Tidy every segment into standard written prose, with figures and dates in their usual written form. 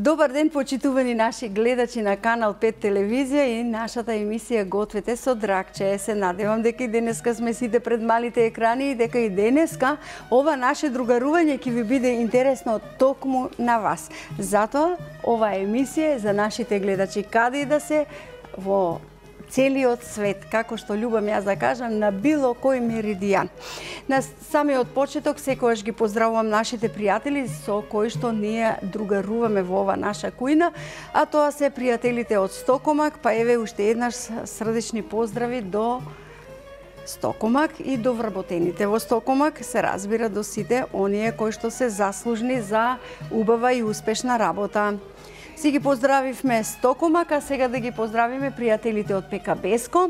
Добар ден, почитувани наши гледачи на Канал 5 телевизија и нашата емисија Гответе со Драгче. Се надевам дека и денеска сме сите пред малите екрани и дека и денеска ова наше другарување ќе ви биде интересно токму на вас. Затоа ова емисија е за нашите гледачи каде и да се во целиот свет, како што љубам јас да кажам, на било кој меридијан. На самиот почеток секогаш ги поздравувам нашите пријатели со кои што ние другаруваме во ова наша кујна, а тоа се пријателите од Стокомак, па еве уште еднаш срдечни поздрави до Стокомак и до вработените во Стокомак, се разбира до сите оние кои што се заслужни за убава и успешна работа. Си ги поздравивме Стокомак, а сега да ги поздравиме пријателите од ПК-Беско,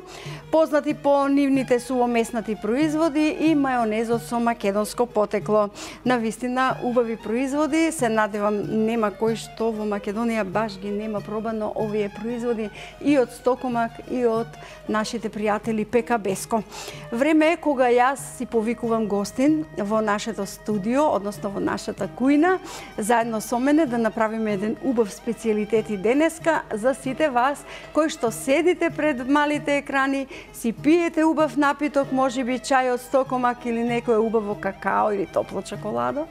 познати по нивните сувомеснати производи и мајонезот со македонско потекло. Навистина убави производи, се надевам нема кој што во Македонија баш ги нема пробано овие производи и од Стокомак и од нашите пријатели ПК-Беско. Време е кога јас си повикувам гостин во нашето студио, односно во нашата кујна, заедно со мене да направиме еден убав специјалитети денеска за сите вас кои што седите пред малите екрани, си пиете убав напиток, можеби чај од Стокомак или некое убаво какао или топло чоколадо,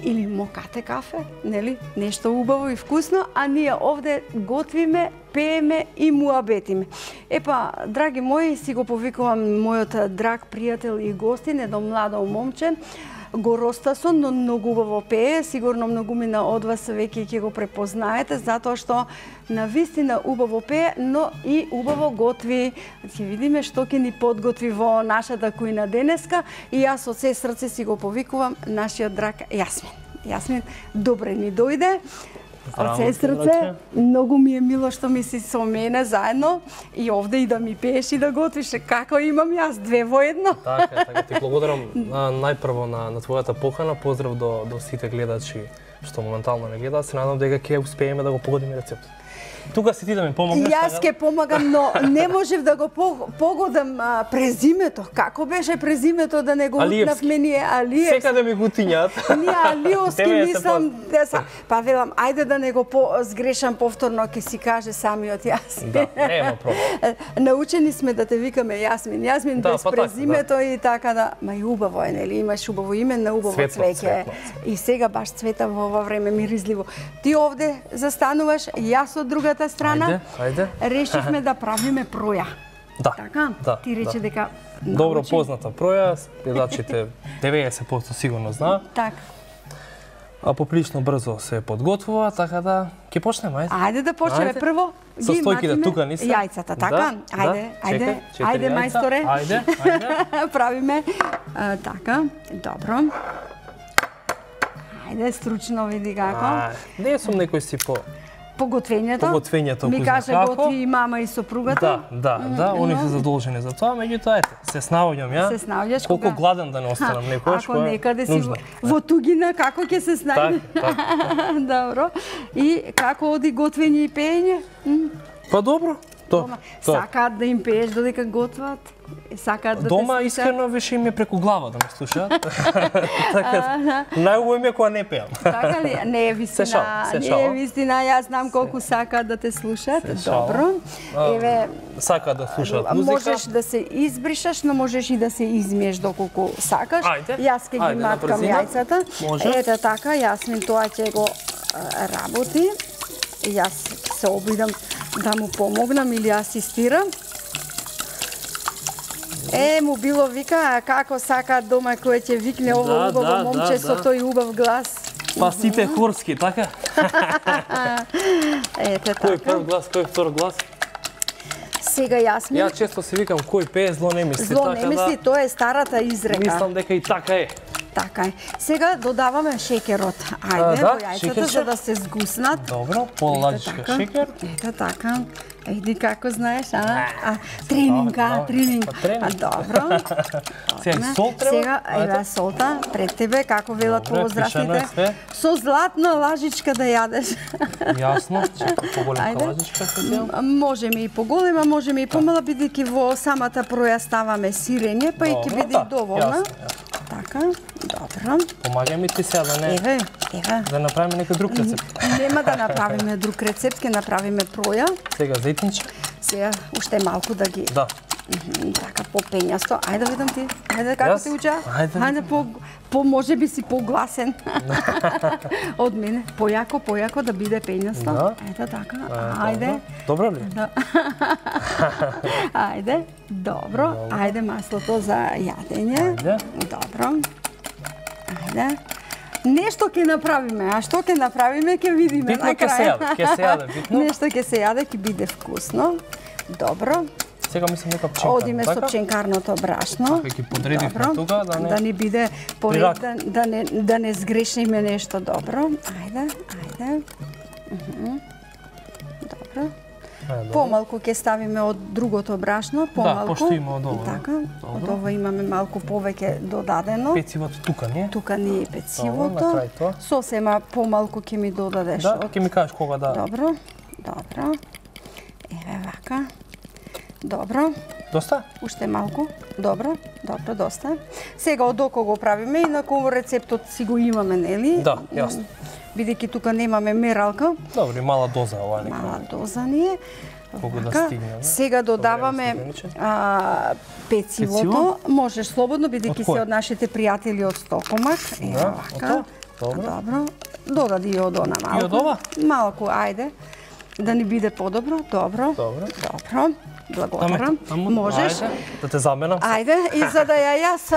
или мокате кафе, нели? Нешто убаво и вкусно, а ние овде готвиме, пееме и муабетиме. Епа, драги мои, си го повикувам мојот драг пријател и гостин, едно младо момче, го Ростасон, но многу убаво пее, сигурно многумина од вас веќе ќе го препознаете, затоа што навистина убаво пее, но и убаво готви. Ќе видиме што ќе ни подготви во нашата кујна денеска и јас од се срце си го повикувам нашиот драг Јасмин. Јасмин, добре ни дојде. Од се срце, многу ми е мило што ми си со мене заедно и овде и да ми пееш и да готвиш. Како имам јас, две во едно. Така, ти благодарам најпрво на твојата покана, поздрав до сите гледачи што моментално не гледаат. Се надам дека ќе успееме да го погодиме рецептот. Тука си ти да ми помогнеш. Јас ќе помагам, но не можев да го погодам презимето. Како беше презимето да не го утнавме ние Алиевски? Секаде ми го тињат. Ние Алиевски мислам деса. Па велам, ајде да не го сгрешам повторно, ќе си каже самиот Јасмин. Да, нема проблем. Научени сме да те викаме Јасмин. Јасмин без презимето и така да. Ма и убаво е, нели? Имаш убаво име на убаво цвеќе. И сега баш цвета во ова време миризливо. Ти овде застануваш, јас од друга страна, ајде. Решивме да правиме проја. Да. Така? Да, ти рече дека добро позната проја, гледачите 90% сигурно знаат. Така. А поприлично брзо се подготвува, така да ќе почнеме, ајде. Ајде да почнеме прво. Состојките тука не се. Јајцата, така? Ајде, мајсторе. Ајде. Правиме така. Добро. Ајде, стручно види како. Не сум некој си Поготвењето. Ми каже готви и мама и сопругата. Да, они се задолжени за тоа, меѓутоа ете, се снаоѓам ја. Се снаоѓаш колку гладен да не останам некојаш. Ако некаде си во тугина, како ќе се снајде? Добро. И како оди готвење и пеење? Па добро. Сакаат да им пееш додека готват? Сакаат да дома искрено више им е преку глава да ме слушаат. Така најубаво им е кога не пеам. Така ли? Не е вистина. Не е вистина. Јас знам колку сакаат да те слушаат. Добро. Еве, сакаат да слушаат музика. Можеш да се избришаш, но можеш и да се измиеш доколку сакаш. Јас ќе ги маткам јајцата. Ете така, Јасмин тоа ќе го работи. Јас се обидам да му помогнам или асистирам. Му било вика, како сакаат дома кој ќе викне ово убаво момче со тој убав глас. Па сите хорски, така? Ете така. Кој прв глас, кој втор глас? Сега Јасмин. Ја често си викам кој пее зло не мисли. Зло не мисли, тоа е старата изрека. Мислам дека и така е. Така е. Сега додаваме шеќерот. Ајде, во јајцата за да се згуснат. Добро, пола ладичка шеќер. Ето така. Еди како знаеш, тренинга. Добро. Сега сол треба? Сега, еве солта пред тебе, како велат повозрастните. Со златна лажичка да јадеш. Јасно, чека поголемка лажичка се дел. Можеме и поголема, можеме и помала, бидејќи во самата проја ставаме сирење, па и ќе биде доволна. така, добро. Помагај ми ти сега да не... Еве. Да направиме некој друг рецепт. Нема да направиме друг рецепт, ќе направиме проја. Сега зејтинче. Сега уште малку да ги... Да. Така, по-пењасто. Ајде видам ти. Ајде, како ти уча? Ајде, може би си погласен од мене. Појако да биде пењасто. Да. Ајде, така. Ајде. Добро ли? Да. Ајде, добро. Ајде маслото за јадење. Ајде. Добро. Ајде. Нешто ќе направиме, а што ќе направиме ќе видиме на крај. Ќе се јаде, битно. Нешто ќе се јаде, ќе биде вкусно. Добро. Сега мислам нека пченкарно, одиме со пченкарното брашно. Така ги подредивме тука да не биде поред, да не сгрешиме нешто добро. Ајде. Добро. Помалку ќе ставиме од другото брашно, помалку. Да, пошто има од ово. Така, од ово имаме малку повеќе додадено. Пецивото тука не е? Тука не е пецивото. Сосема помалку ќе ми додадеш. Да, ќе ми кажеш кога да. Добро. Еве вака. Добро. Доста? Уште малку. Добро, доста. Сега од око го правиме, инаку рецептот си го имаме, нели? Да, јасно. Бидејќи тука немаме мералка. Добро, мала доза ова нека. Мала доза ни е. Колку да стигне. Сега додаваме пецивото. Можеш слободно, бидејќи се од нашите пријатели од Стокомак. Да, вака. Добро. Додади и од она малку. И од ова? Малку, ајде. Да ни биде подобро. Добро. Благодарам. Можеш. Да те заменам. Ајде, и за да јас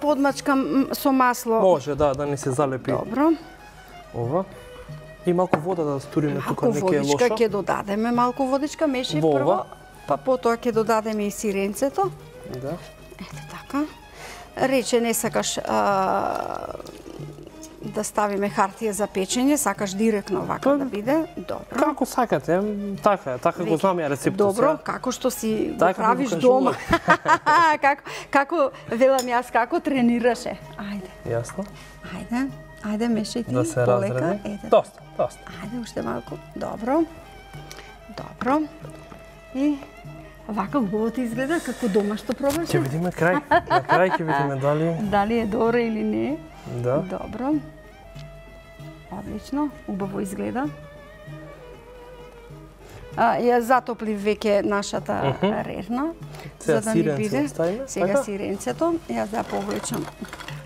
подмачкам со масло. Може, да не се залепи. Добро. Ова. И малку вода да стуриме тука, не ќе е лошо. Ќе додадеме малку водичка, меши прво, па потоа ќе додадеме и сиренцето. Да. Ете така. Рече не сакаш да ставиме хартија за печење, сакаш директно вака да биде. Добро. Како сакате, така го знам ја рецептот. Добро, како што си го правиш дома. Како велам јас, како тренираше. Ајде. Јасно. Ајде, мешај ти да се полека. Доста. Ајде, уште малку. Добро. И вака убаво ти изгледа, како домашно пробаш. Ќе видиме крај. На крај ќе видиме дали е добро или не. Да. Добро. Одлично, убаво изгледа. Ја затоплив веќе нашата рерна, за да ни биде. Сега сиренцето. Јас да повлечам.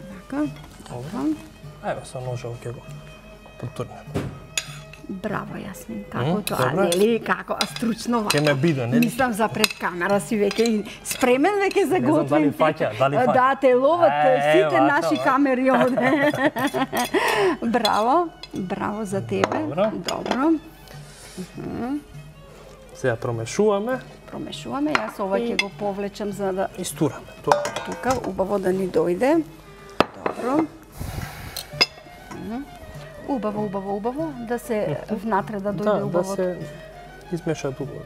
Вака. Добро. Ајде, со ножот ќе го потурнем. Браво, Јасмин. Како тоа, нели? Како стручно вака. Ке ме биде, нели? Мислам за пред камера си веќе спремен веќе за готвен. Не знам дали фаќа. Да, те ловат сите наши камери овде. Браво за тебе. Добро. Сега промешуваме. Јас ова ќе го повлечам за да истураме. Тука убаво да ни дојде. Добро. Убаво, да се внатре да дојде убаво. Да се измешаат убаво.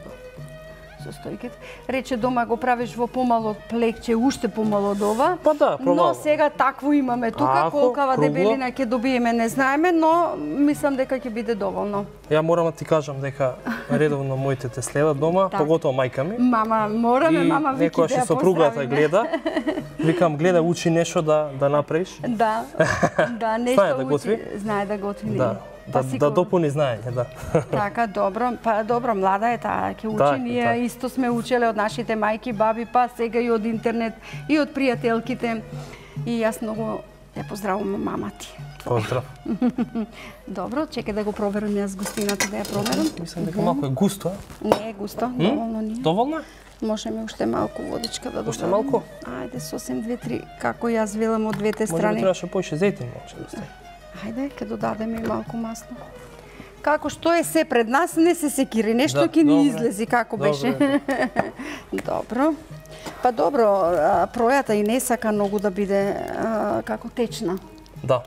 Состојките. Рече дома го правиш во помало плекче, уште помало од ова. Па да, но сега такво имаме тука, колкава дебелина ќе добиеме не знаеме, но мислам дека ќе биде доволно. Ја морам да ти кажам дека редовно моите те следат дома, поготово мајка ми. Мама, мама вики некоја што сопругата гледа. Викам, гледа, учи нешто да направиш. Да, нешто учи. Знае да готви. Да допуни знаење, да. Така, добро. Па добро, млада е таа, ќе учи. Ние исто сме учеле од нашите мајки, баби, па сега и од интернет, и од пријателките. И јас многу ја поздравувам мама ти. Поздрав. Добро, чекај да го проверам јас густината, да ја проверам. Мислам дека малку е густо. Не е густо, доволно ни е. Доволно? Можеме уште малку водичка да додадеме. Уште малку? Ајде, сосем 2-3, како јас велам од двете страни. Може би требаше поише зејтин, може да стане. Ајде, ќе додадеме и малку масло. Како што е се пред нас, не се секири, нешто ќе ни излези, како беше. Добро. Па добро, пројата и не сака многу да биде како течна. Да.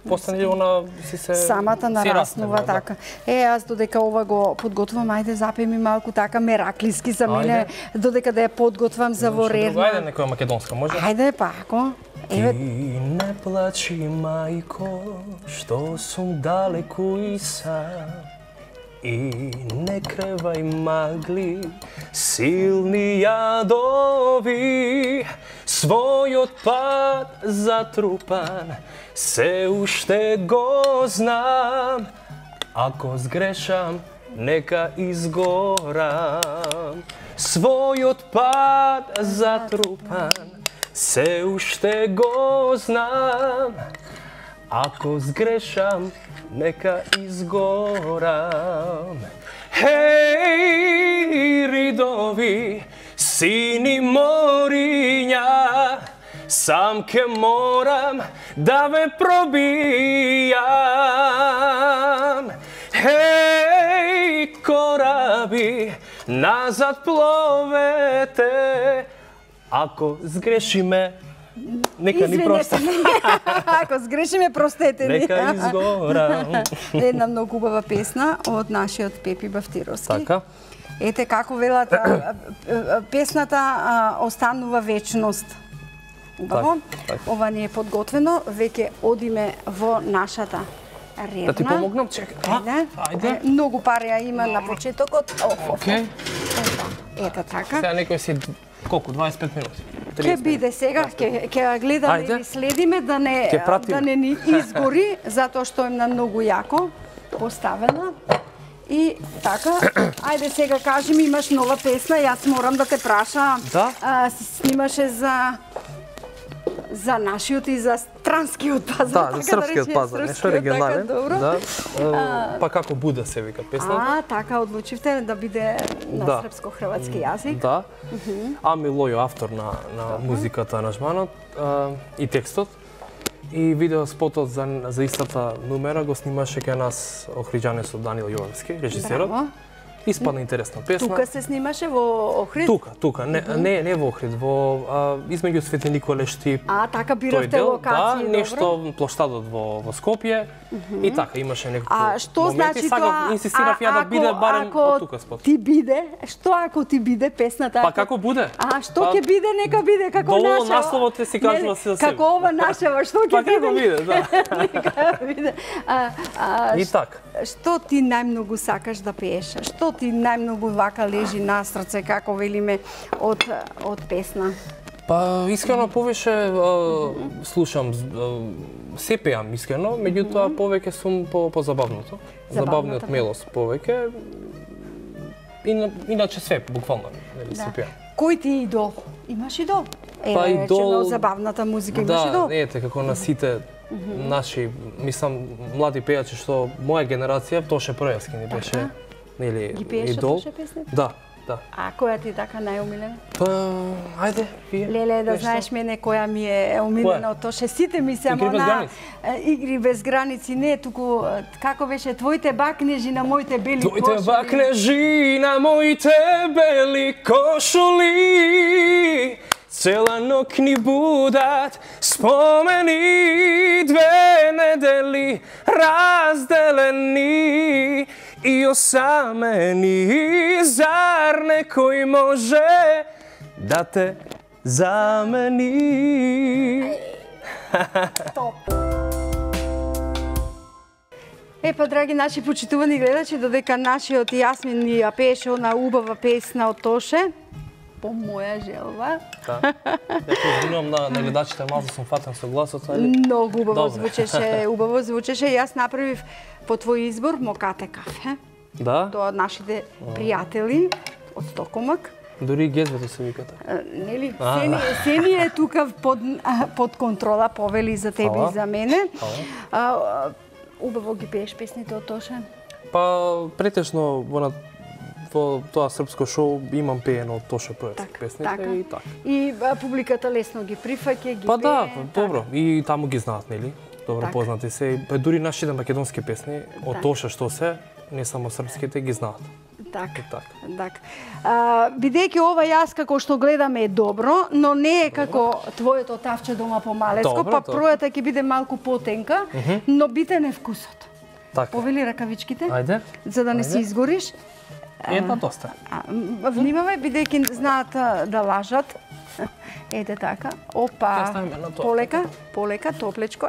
Постане она си се самата нараснува така. Јас додека ова го подготвам, ајде запеј ми малку така мераклиски за мене, додека да ја подготвам за во рерна. Ајде некоја македонска, може? Ајде па, ако. Ти не плачи, мајко, што сум далеку и сам. И не кревај магли, силни јадови, својот пат затрупан, се уште го знам. Ако сгрешам, нека изгорам. Својот пат затрупан, се уште го знам. Ако сгрешам, нека изгорам. Хеј, ридови, сини мориња, сам ке морам да ве пробијам. Хеј, кораби, назад пловете, ако сгрешиме, нека ни прости. Ако сгрешиме, простете ни. Нека изгорам. Една многу убава песна од нашиот Пепи Бафтировски. Така. Ете како велат, песната останува вечност. Убаво. Так. Ова не е подготвено, веќе одиме во нашата редна. Да ти помогнам, чекај. Ајде. Многу пареја има на почетокот. Окей. Ето така. Сега некој си колку 25 минути. Ќе биде сега, ќе гледаме и следиме да не ни изгори, затоа што е на многу јако поставена. И така, ајде сега кажи ми, имаш нова песна, јас морам да те праша. Да. Снимаше за нашиот и за странскиот пазар. Да, за српскиот пазар, нешто оригинален. Да. Па како Буда се вика песната. Така одлучивте да биде на српско-хрватски јазик. Да. Ами Лојо, автор на музиката, аранжманот и текстот. И видеоспотот за истата номера го снимаше кај нас охриджанецот Даниел Јовевски, режисерот. Испадна интересна песна. Тука се снимаше во Охрид? Тука. Не во Охрид, измеѓу Свети Николе Штип. Така биравте локации, добро? Да, нешто плоштадот во Скопје. И така, имаше неколку моменти. Што значи тоа? Инсистирав ја да биде барем од тука спот. Ти биде, што ако ти биде песната? Па како буде? Што ќе биде, нека биде како наша. Долу насловот си кажува се за себе. Како ова нашава, што ќе биде? Па како биде, да. Нека биде. И така. Што ти најмногу сакаш да пееш? Што ти најмногу вака лежи на срце, како велиме, од песна? Па, искрено повеќе слушам, се пеам искрено, меѓутоа повеќе сум по забавното. Забавниот мелос повеќе. Иначе све, буквално, се пеам. Кој ти е идол? Имаш идол? Па идол... Забавната музика имаш идол? Да, ете, како на сите наши, мислам, млади пејачи што моја генерација, Тоше Пројавски ни беше, нели, идол. Ги пееше Тоше песните? Да. А која ти е така најомилена? Па, ајде, вие. Леле, да знаеш мене која ми е омилена од Тоше. Сите ми се Игри без граници, не, туку како беше твоите бакнежи на моите бели кошули. Твоите бакнежи на моите бели кошули. Цела ног ни будат спомени, две недели разделени и осамени. Зар некој може да те замени? Топ! Епа, драги наши почитувани гледачи, додека нашиот Јасмин ни ја пееше она убава песна од Тоше, по моја желба. Да. Ја извинувам на гледачите, малку сум фатен со гласот, али... Многу убаво звучеше, Јас направив по твој избор Мокате кафе. Да? Тоа нашите пријатели од Стокомак. Дури и гезвето се викате. Нели? Се ни е тука под контрола, повели за тебе и за мене. Убаво ги пееш песните од Тоше? Па, претежно во тоа српско шоу имам пеено од Тоше Пројавски песните и така. И публиката лесно ги прифаќа, ги пее. Па да, добро. И таму ги знаат, нели? Добро познати се. Дури нашите македонски песни од Тоше што се, не само српските, ги знаат. Така. Бидејќи ова јас како што гледаме е добро, но не е како твоето тавче дома по Малецко, па пројата ќе биде малку потенка, но битен е вкусот. Повели ракавичките, Ајде. За да не си изгориш. Една доста. Внимавај, бидејќи знаат да лажат. Ете така. Опа. Полека, топлечко.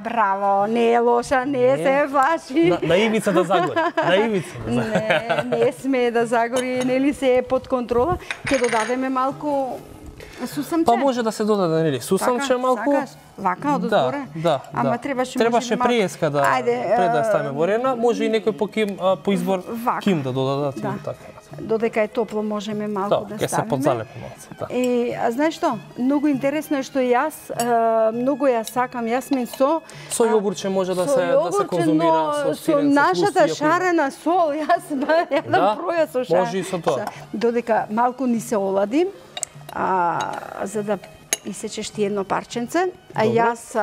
Браво. Не е лоша, не се плаши. На ивица да загори. Не смее да загори, нели се е под контрола. Ќе додадеме малку сусамче. Па може да се додаде, нели? Сусамче малку. Вака од озгоре? Да. Ама требаше приеска да пред да ставиме во рена, може и некој по избор ким да додадат и така. Додека е топло можеме малку да ставиме. Ќе се подзалепи малку, да. Знаеш што? Многу интересно е што јас многу ја сакам јасмин со јогурче може да се конзумира со сирење. Со нашата шарена сол, јас јадам проја со шарена. Може и со тоа. Додека малку ни се олади, за да исечеш ти едно парченце, а јас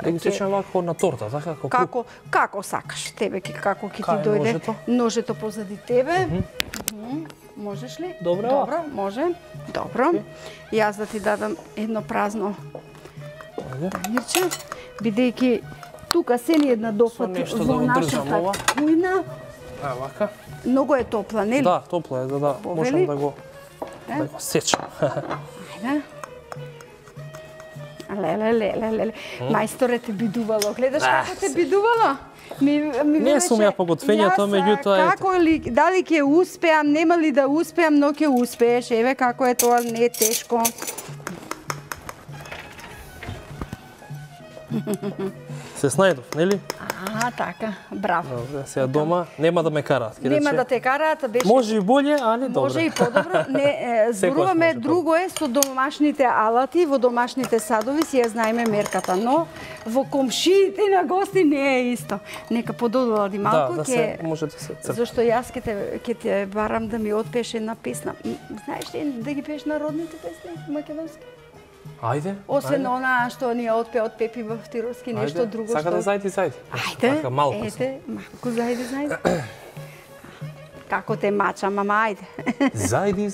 да го сечам вака на торта, така како сакаш, тебе како ќе ти дојде ножето позади тебе. Можеш ли? Добро, може. Добро. Јас да ти дадам едно празно танирче, бидејќи тука се ни една дофат во нашата кујна. Вака. Многу е топла, нели? Да, топла е, да можам да го сечам. Ајде. Леле. Мајсторе те бидувало. Гледаш како те бидувало? Не сум ја поготвењето, меѓутоа ете. Дали ќе успеам, нема ли да успеам, но ќе успееш. Еве како е тоа, не е тешко. Се снајдов, нели? Така, браво. Добре, сега дома нема да ме караат. Нема да те караат, беше... Може и боле, али добре. Може и подобро. Не, зборуваме друго е со домашните алати, во домашните садови си ја знаеме мерката, но во комшиите на гости не е исто. Нека подолади малку, да се може да се црпи. Зашто јас ќе те барам да ми отпееш една песна. Знаеш ли да ги пееш народните песни македонски? Ајде. Освен она што ни отпе од Пепи Бахтировски, нешто друго што... Сака да зајди. Ајде, малку зајди. Како те мача, мама, ајде. Зајди,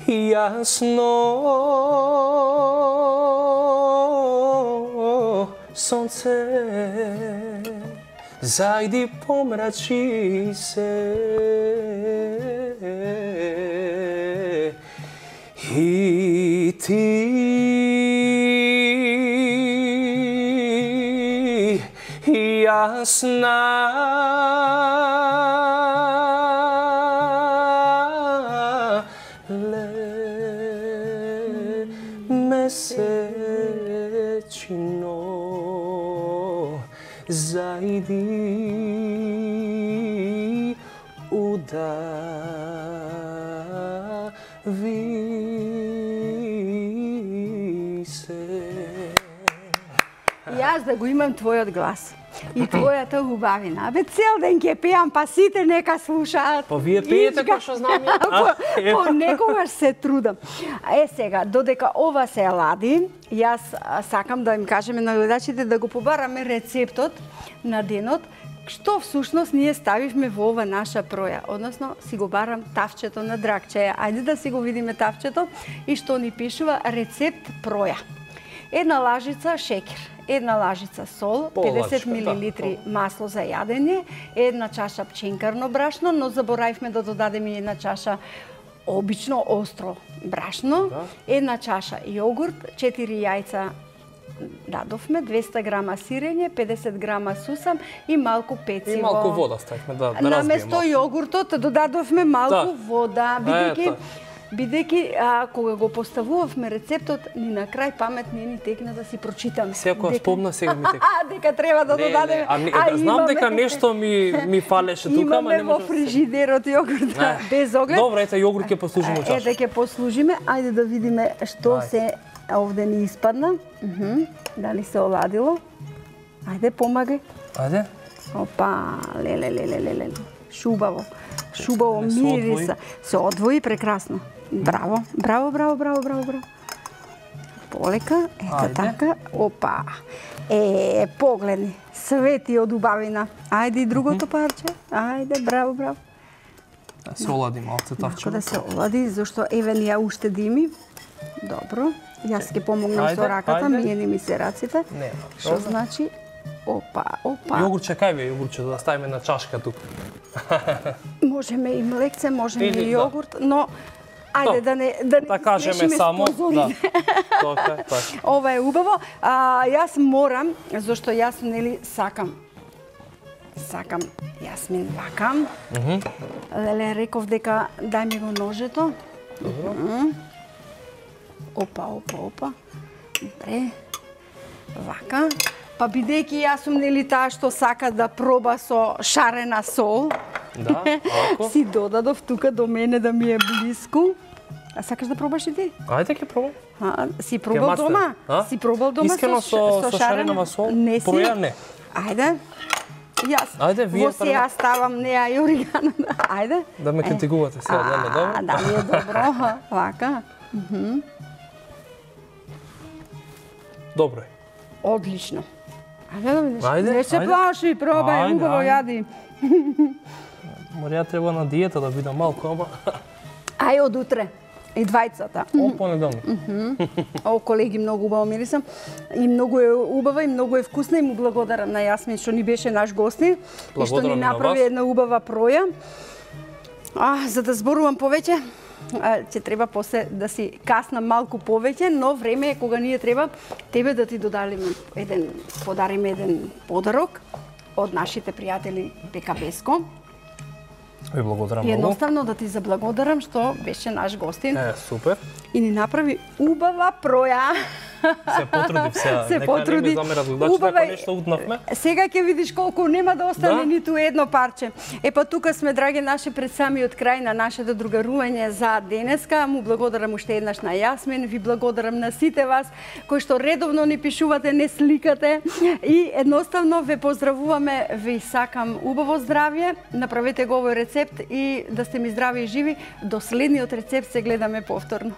јасно сонце, зајди помрачи се. И ти јасна месечино зајди удави. Јас да го имам твојот глас и твојата убавина. Абе, цел ден ќе пеам, па сите нека слушаат. Па вие пеете кој што знам ја. Па некогаш се трудам. Сега, додека ова се лади, јас сакам да им кажеме на гледачите да го побараме рецептот на денот, што всушност ние ставивме во ова наша проја. Односно, си го барам тавчето на Драгче. Ајде да си го видиме тавчето и што ни пишува рецепт проја. Една лажица шекер, една лажица сол, 50 мл масло за јадење, една чаша пченкарно брашно, но заборавивме да додадеме една чаша обично остро брашно, една чаша јогурт, 4 јајца дадовме, 200 грама сирење, 50 грама сусам и малку пециво. И малку вода ставивме да разбиеме. Наместо јогуртот додадовме малку вода, бидејќи кога го поставувавме рецептот, ни на крај памет не ни текна да си прочитаме. Секоја спомна, сега ми текна. Дека треба да додадеме. Знам дека нешто ми фалеше тука, ама не може. Имаме во фрижидерот јогурт без оглед. Добре, ете јогурт ќе послужиме чаш. Ете ќе послужиме. Ајде да видиме што се овде ни испадна. Дали се оладило? Ајде помагај. Ајде. Опа, леле. Шубаво мириса. Се одвои прекрасно. Браво. Полека, ето така. Опа. Погледни. Свети од убавина. Ајде и другото парче. Ајде, браво. Да се олади малце тавче. Да се олади, зашто еве ни ја уште дими. Добро. Јас ќе помогнам со раката, миени ми се раците. Што значи Опа. Јогурче кај ви, јогурче да ставиме на чашка тука. Можеме и млекце, можеме Или, и јогурт, но ајде да не кажеме само, да. Така. Ова е убаво. Јас морам, зашто јас нели сакам јасмин вака. Леле, реков дека дај ми го ножето. Опа. Добре. Вака. Па бидејќи јас сум нели таа што сака да проба со шарена сол. Да, ако. Си додадов тука до мене да ми е блиску. А сакаш да пробаш и ти? Ајде ќе пробам. Си пробал дома? Си пробал дома искрено со шаренава сол? Не си. Проја не. Ајде. Јас. Ајде, вие во ја ставам неа и орегано. Ајде. Да ме критикувате сега, добро? Да, ми е добро. Вака. Добро е. Одлично. Ајде да видиш. Ајде, Не се плаши, пробај, убаво јади. Морја треба на диета да бидам малку, ама... Ај од утре. И двајцата. Од понеделник. О, колеги, многу убаво мирисам. И многу е убава и многу е вкусна и му благодарам на Јасмин што ни беше наш гостин и што ни направи една убава проја. За да зборувам повеќе, ќе треба после да си каснам малку повеќе, но време е кога ние треба тебе да ти подариме еден подарок од нашите пријатели ПК-Беско. Ви благодарам многу. многу. Едноставно да ти заблагодарам што беше наш гостин. Супер. И ни направи убава проја. Се потрудив сега. Се потруди. Нека не ме замерат гледачите ако нешто утнавме. Сега ќе видиш колку нема да остане ниту едно парче. Па тука сме, драги наши, пред самиот крај на нашето другарување за денеска. Му благодарам уште еднаш на Јасмин, ви благодарам на сите вас кои што редовно ни пишувате, не сликате и едноставно ве поздравуваме, ви сакам убаво здравје. Направете го овој рецепт и да сте ми здрави и живи. До следниот рецепт се гледаме повторно.